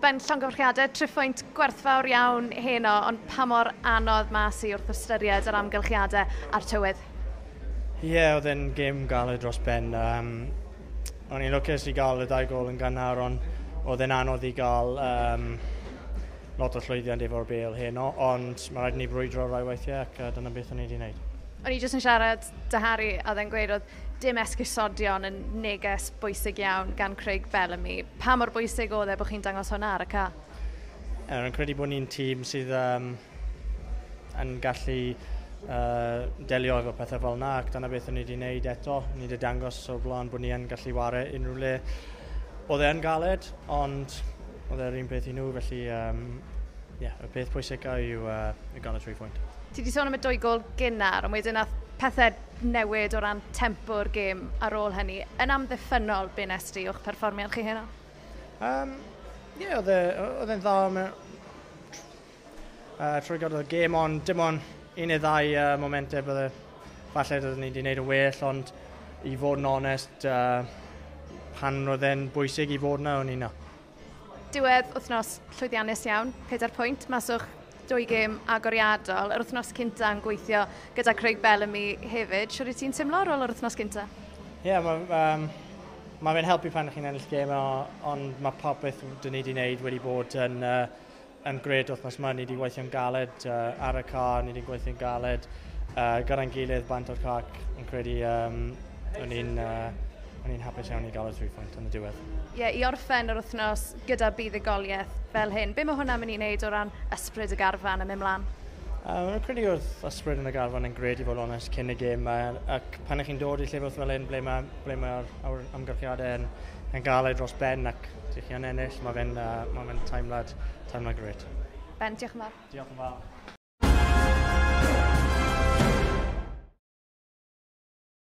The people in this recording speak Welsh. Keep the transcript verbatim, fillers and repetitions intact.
Ben, llongyfarchiadau, triphwynt gwerthfawr iawn heno, ond pa mor anodd mas i wrth ystyried yr amgylchiadau a'r tywydd? Ie, yeah, oedd e'n gêm galed dros ben. Um, o'n i'n lwcus i gael y dau gol yn gynnar, ond oedd e'n anodd i gael um, lot o llwyddiant efo'r bêl heno, ond mae rhaid ni brwydro rai weithiau ac uh, dyna beth o'n i wedi wneud. O'n i jyst yn siarad 'da Harry a oedd e'n gweud oedd dim esgusodion yn neges bwysig iawn gan Craig Bellamy. Pa mor bwysig oedd e bod chi'n dangos hwnna ar y ca? Rwy'n credu bod ni'n tîm sydd um, yn gallu uh, delio efo pethau fel yna, ac dyna beth o'n ni wedi wneud eto. Ni wedi dangos o'r blaen bod ni yn gallu ware unrhyw le. Oedd e'n galed, ond oedd e'r un peth i nhw, felly um, yeah, y peth pwysica yw uh, i gael y tri phwynt. Ti wedi sôn am y dwy gol gynnar, ond wedyn nath pethau newid o ran tempo'r gêm ar ôl hynny. Yn amddiffynnol, be nes ti o'ch perfformiad chi heno? Um, ie, yeah, oedd e, e'n dda uh, trwy gydol y gêm, ond dim ond un neu ddau uh, momentau bydde falle doeddwn ni wedi gwneud yn well, ond i fod yn onest, uh, pan roedd e'n bwysig i fod yna, o'n i yna. Diwedd wythnos llwyddiannus iawn, pedair pwynt, mas o'ch dwy gêm agoriadol. Yr wythnos cynta yn gweithio gyda Craig Bellamy hefyd. Siwr i ti'n teimlo ar ôl yr wythnos cynta? Ie, yeah, mae um, ma fe'n helpu pan chi'n ennill gêm, ond mae popeth dyn ni wedi wneud wedi bod yn, uh, yn gred wythnos yma. Ni wedi gweithio'n galed uh, ar y car, ni wedi gweithio'n galed uh, gyda'n gilydd bant o'r cac. Yn credu um, o'n i'n uh, o'n i'n hapus iawn i gael y three point yn y diwedd. Ie, yeah, i orffen yr wythnos gyda buddugoliaeth fel hyn, be mae hwnna'n mynd i wneud o ran ysbryd y garfan yn mynd mlaen? Um, Rwy'n credu oedd ysbryd yn y garfan yn gred i fod onest cyn y gêm, ac pan ych chi'n dod i llefydd fel hyn, ble mae'r ble mae amgylchiadau yn, yn galed dros ben ac ydych chi'n ennill, mae fe'n uh, ma fe teimlad, teimlad gret. Ben, diolch yn fawr. Diolch yn fawr.